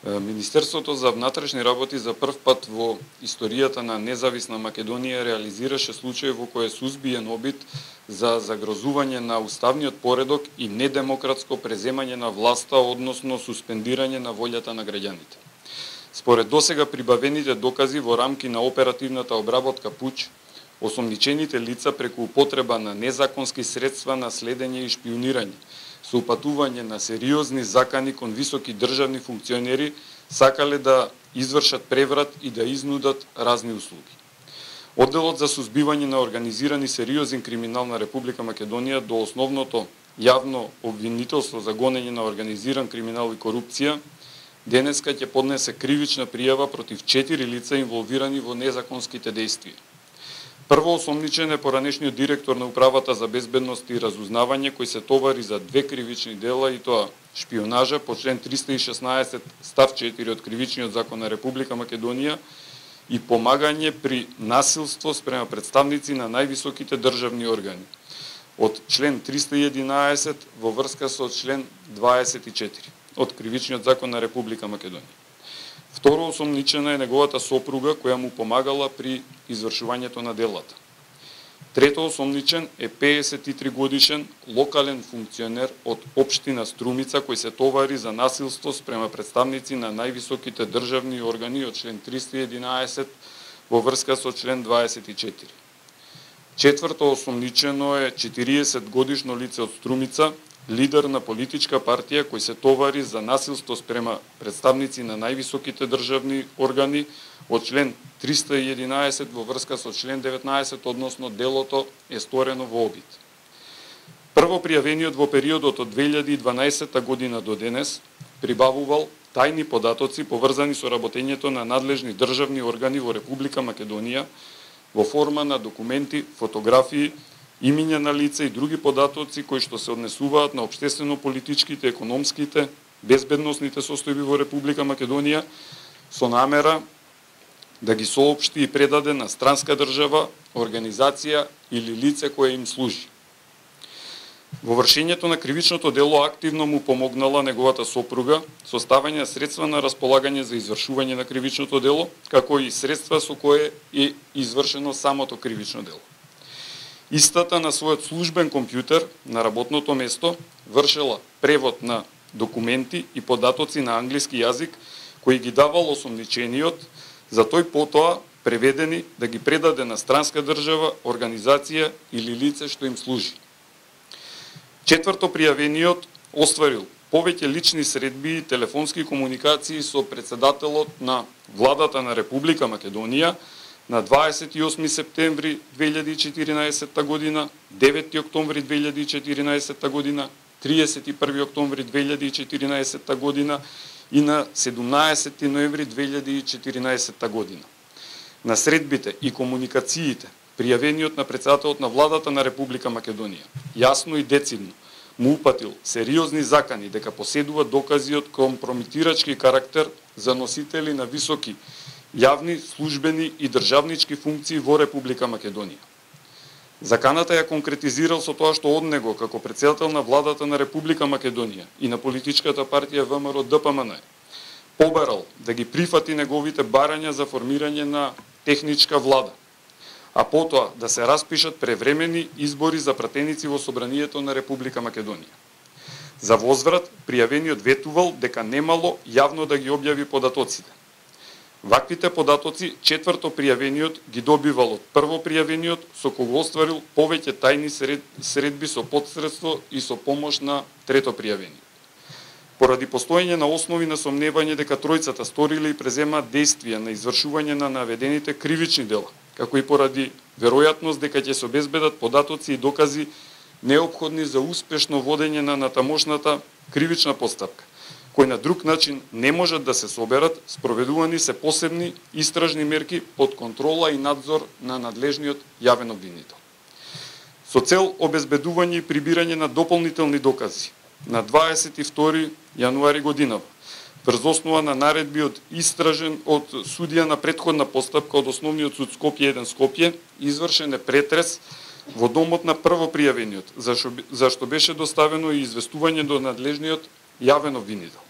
Министерството за внатрешни работи за прв пат во историјата на независна Македонија реализираше случај во кој е сузбиен обид за загрозување на уставниот поредок и недемократско преземање на власта, односно суспендирање на волјата на граѓаните. Според досега прибавените докази во рамки на оперативната обработка ПУЧ, осомничените лица преку употреба на незаконски средства на следење и шпионирање, со упатување на сериозни закани кон високи државни функционери, сакале да извршат преврат и да изнудат разни услуги. Одделот за сузбивање на организирани сериозен криминал на Република Македонија до основното јавно обвинителство за гонење на организиран криминал и корупција, денеска ќе поднесе кривична пријава против 4 лица инволвирани во незаконските дејствија. Прво осомничен е поранешниот директор на Управата за безбедност и разузнавање, кој се товари за 2 кривични дела, и тоа шпионажа по член 316 став 4 од Кривичниот закон на Република Македонија и помагање при насилство спрема представници на највисоките државни органи од член 311 во врска со член 24 од Кривичниот закон на Република Македонија. Второ осомничена е неговата сопруга, која му помагала при извршувањето на делата. Трето осомничен е 53 годишен локален функционер од општина Струмица, кој се товари за насилство спрема представници на највисоките државни органи од член 311 во врска со член 24. Четврто осомничено е 40 годишно лице од Струмица, лидер на политичка партија, кој се товари за насилство спрема представници на највисоките државни органи од член 311 во врска со член 19, односно делото е сторено во обид. Прво пријавениот во периодот од 2012 година до денес прибавувал тајни податоци поврзани со работењето на надлежни државни органи во Република Македонија во форма на документи, фотографии, имиња на лица и други податоци кои што се однесуваат на општествено-политичките, економските, безбедносните состојби во Република Македонија со намера да ги соопшти и предаде на странска држава, организација или лице кое им служи. Во вршењето на кривичното дело активно му помогнала неговата сопруга со ставање средства на располагање за извршување на кривичното дело, како и средства со кое е извршено самото кривично дело. Истата на својот службен компјутер на работното место вршела превод на документи и податоци на англиски јазик кои ги давал осомничениот, за тој потоа преведени да ги предаде на странска држава, организација или лице што им служи. Четврто пријавениот остварил повеќе лични средби и телефонски комуникации со председателот на владата на Република Македонија на 28 септември 2014 година, 9 октомври 2014 година, 31 октомври 2014 година и на 17 ноември 2014 година. На средбите и комуникациите, пријавениот на председателот на владата на Република Македонија, јасно и децидно му упатил сериозни закани дека поседува докази од компрометирачки карактер за носители на високи јавни, службени и државнички функции во Република Македонија. Заканата ја конкретизирал со тоа што од него, како председател на владата на Република Македонија и на политичката партија ВМРО-ДПМН, побарал да ги прифати неговите барања за формирање на техничка влада, а потоа да се распишат превремени избори за пратеници во Собранието на Република Македонија. За возврат, пријавениот ветувал дека немало јавно да ги објави податоците. Ваквите податоци четврто пријавениот ги добивал од прво пријавениот, со кого остварил повеќе тајни средби со подсредство и со помош на трето пријавениот. Поради постоење на основи на сомневање дека тројцата сториле и преземаат дејствија на извршување на наведените кривични дела, како и поради веројатност дека ќе се обезбедат податоци и докази неопходни за успешно водење на натамошната кривична постапка, кои на друг начин не можат да се соберат, спроведувани се посебни истражни мерки под контрола и надзор на надлежниот јавен обвинител. Со цел обезбедување и прибирање на дополнителни докази, на 22 јануари годинава, врз основа на наредби од судија на претходна постапка од Основниот суд Скопје 1 Скопје, извршен е претрес во домот на прво пријавениот, зашто беше доставено и известување до надлежниот јавен обвинител.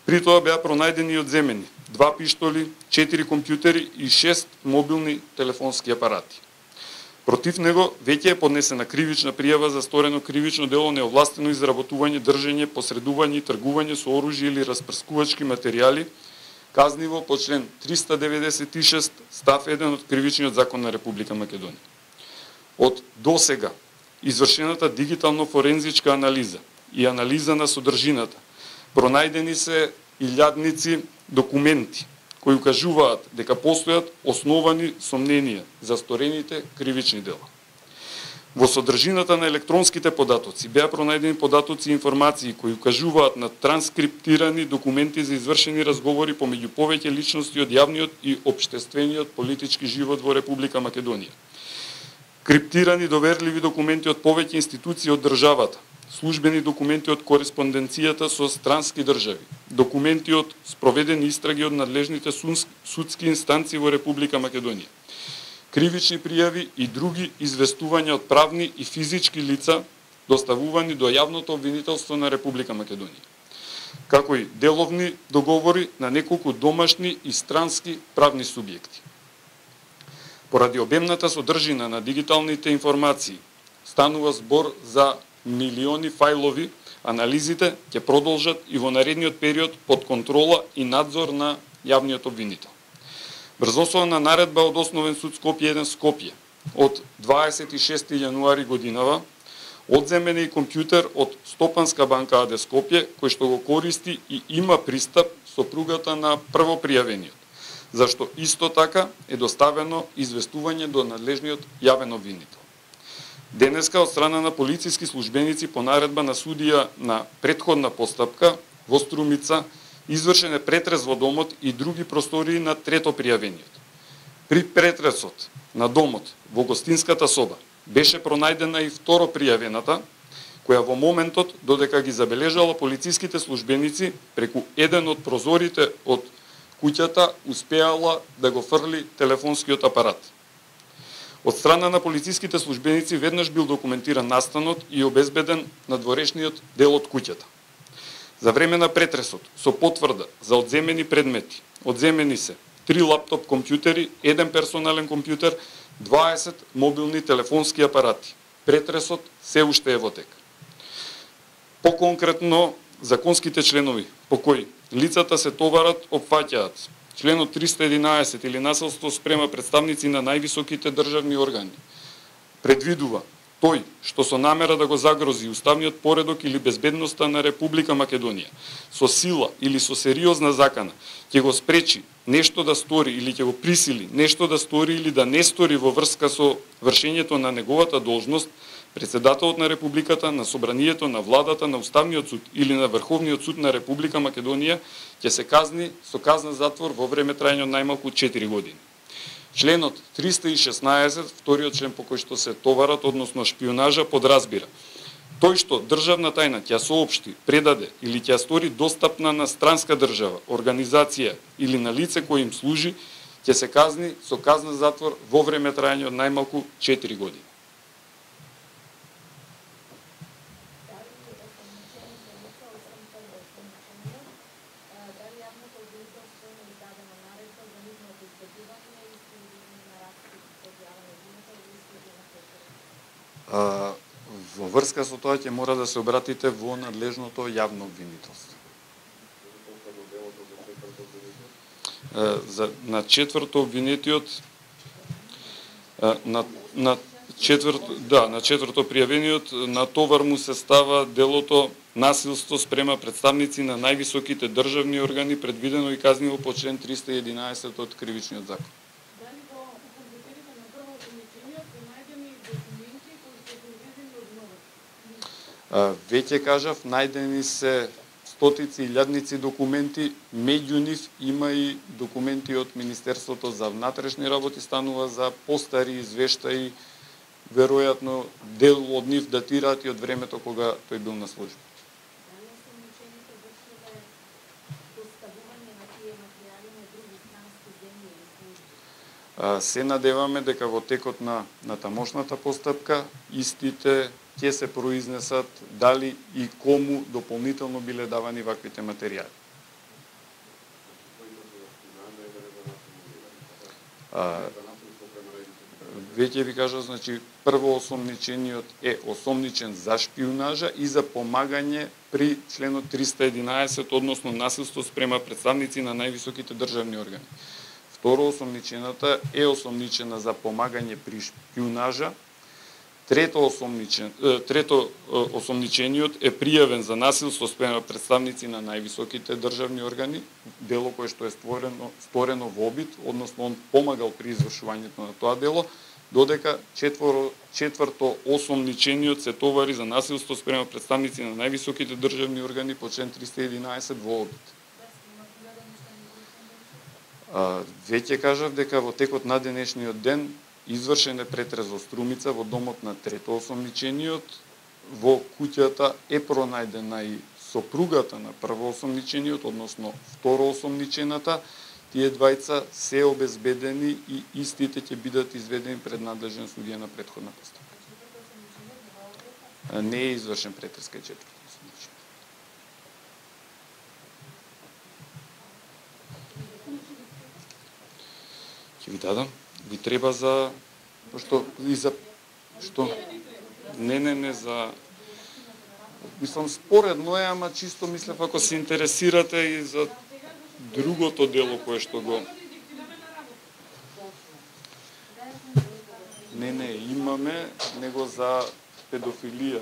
При тоа беа пронајдени и одземени 2 пиштоли, 4 компјутери и 6 мобилни телефонски апарати. Против него веќе е поднесена кривична пријава за сторено кривично дело неовластено изработување, држење, посредување и тргување со оружје или распрскувачки материјали, казниво по член 396 став 1 од Кривичниот закон на Република Македонија. Од досега извршената дигитално-форензичка анализа и анализа на содржината, пронајдени се илјадници документи кои укажуваат дека постојат основани сомненија за сторените кривични дела. Во содржината на електронските податоци беа пронајдени податоци и информации кои укажуваат на транскриптирани документи за извршени разговори помеѓу повеќе личности од јавниот и општествениот политички живот во Република Македонија. Криптирани доверливи документи од повеќе институции од државата, службени документи од кореспонденцијата со странски држави, документи од спроведени истраги од надлежните судски инстанции во Република Македонија, кривични пријави и други известувања од правни и физички лица доставувани до јавното обвинителство на Република Македонија, како и деловни договори на неколку домашни и странски правни субјекти. Поради обемната содржина на дигиталните информации, станува збор за милиони фајлови, анализите ќе продолжат и во наредниот период под контрола и надзор на јавниот обвинител. Брзосовна наредба од Основен суд Скопје 1 Скопје од 26 јануари годинава одземен е и компјутер од Стопанска банка АД Скопје, кој што го користи и има пристап сопругата на првопријавениот, зашто исто така е доставено известување до надлежниот јавен обвинител. Денеска од страна на полициски службеници по наредба на судија на претходна постапка во Струмица извршен е претрес во домот и други простории на трето пријавениот. При претресот на домот во гостинската соба беше пронајдена и второ пријавената, која во моментот додека ги забележала полициските службеници преку еден од прозорите од куќата успеала да го фрли телефонскиот апарат. Од страна на полициските службеници веднаш бил документиран настанот и обезбеден надворешниот дел од куќата. За време на претресот, со потврда за одземени предмети, одземени се 3 лаптоп компјутери, 1 персонален компјутер, 20 мобилни телефонски апарати. Претресот се уште е во тек. Поконкретно, законските членови по кои лицата се товарат опфаќаат членот 311 или насилство спрема представници на највисоките државни органи. Предвидува тој што со намера да го загрози уставниот поредок или безбедноста на Република Македонија, со сила или со сериозна закана, ќе го спречи нешто да стори или ќе го присили нешто да стори или да не стори во врска со вршењето на неговата должност, председателот на Републиката, на Собранието, на владата, на Уставниот суд или на Врховниот суд на Република Македонија ќе се казни со казна затвор во време трајање од најмалку 4 години. Членот 316, вториот член по кој што се товарат, односно шпионажа, подразбира тој што државна тајна ќе соопшти, предаде или ќе стори достапна на странска држава, организација или на лице кој им служи, ќе се казни со казна затвор во време трајање од најмалку 4 години. Во врска со тоа ќе мора да се обратите во надлежното јавно обвинителство. На четврто обвинетиот на четврто пријавениот на товар му се става делото насилство спрема представници на највисоките државни органи, предвидено и казниво по член 311 од Кривичниот закон. Веќе кажав, најдени се стотици илјадници документи, меѓу нив има и документи од Министерството за внатрешни работи, станува за постари извештаи, веројатно дел од нив датираат и од времето кога тој бил на служба. Се надеваме дека во текот на тамошната постапка истите ќе се произнесат дали и кому дополнително биле давани ваквите материјали. Веќе ви кажа, значи, прво осомничениот е осомничен за шпиунажа и за помагање при членот 311, односно насилство спрема представници на највисоките државни органи. Второ осомничената е осомничена за помагање при шпиунажа. Трето осомничениот е пријавен за насилство спрема представници на највисоките државни органи, дело кое што е сторено во обид, односно он помагал при извршувањето на тоа дело, додека четврто осомничениот се товари за насилство спрема представници на највисоките државни органи по член 311 во обид. Веќе кажав дека во текот на денешниот ден извршен е претрез во Струмица во домот на трето осомничениот. Во куќата е пронајдена и сопругата на прво осомничениот, односно второ осомничената. Тие двајца се обезбедени и истите ќе бидат изведени пред надлежен судија на претходна постапка. Не е извршен претрез кај четврто осомничениот. Ќе ви дадам. Ви треба за што и за што не за мислам споредно е, ама чисто мислев ако се интересирате и за другото дело кое што го не имаме, него за педофилија.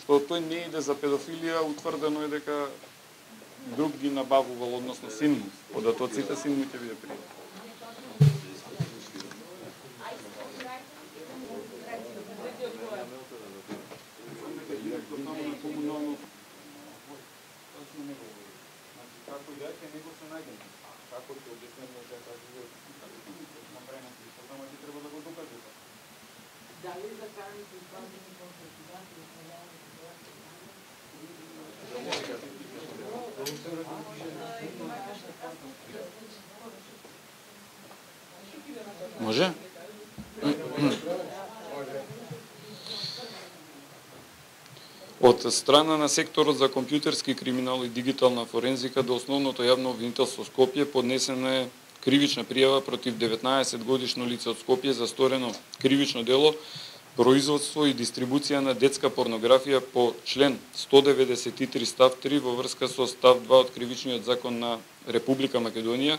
Што тој не иде за педофилија, утврдено е дека друг ги набавувал, односно син му. Податоците син му ќе биде пријат. Како и дека него се најден. Како ќе објаснеме дека на време што само ќе треба да го докаже. Дали за караните исправени конституција може? Од страна на секторот за компјутерски криминал и дигитална форензика до основното јавно обвинителство Скопје поднесена е кривична пријава против 19 годишно лице од Скопје за сторено кривично дело производство и дистрибуција на детска порнографија по член 193 став 3 во врска со став 2 од кривичниот закон на Република Македонија,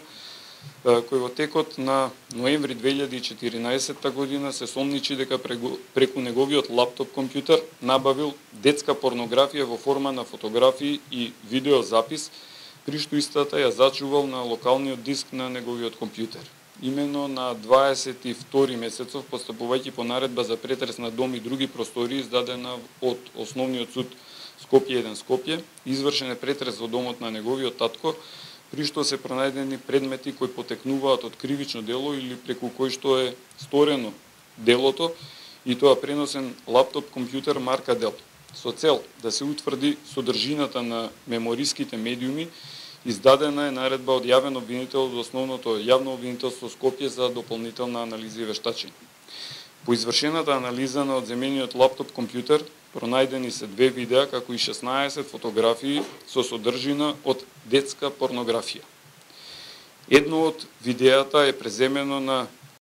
кој во текот на ноември 2014 година се сомничи дека преку неговиот лаптоп компјутер набавил детска порнографија во форма на фотографии и видеозапис, при што истата ја зачувал на локалниот диск на неговиот компјутер. Имено на 22 месецов, постапувајќи по наредба за претрес на дом и други простории издадена од Основниот суд Скопје 1 Скопје, извршен е претрес во домот на неговиот татко, при што се пронајдени предмети кои потекнуваат од кривично дело или преку кој што е сторено делото, и тоа преносен лаптоп компјутер марка Dell. Со цел да се утврди содржината на мемориските медиуми, издадена е наредба од јавен обвинител од Основното јавно обвинителство Скопје за дополнителна анализа и вештачење. По извршената анализа на одземениот лаптоп компјутер пронајдени се 2 видеа, како и 16 фотографии со содржина од детска порнографија. Едно од видеата е преземено на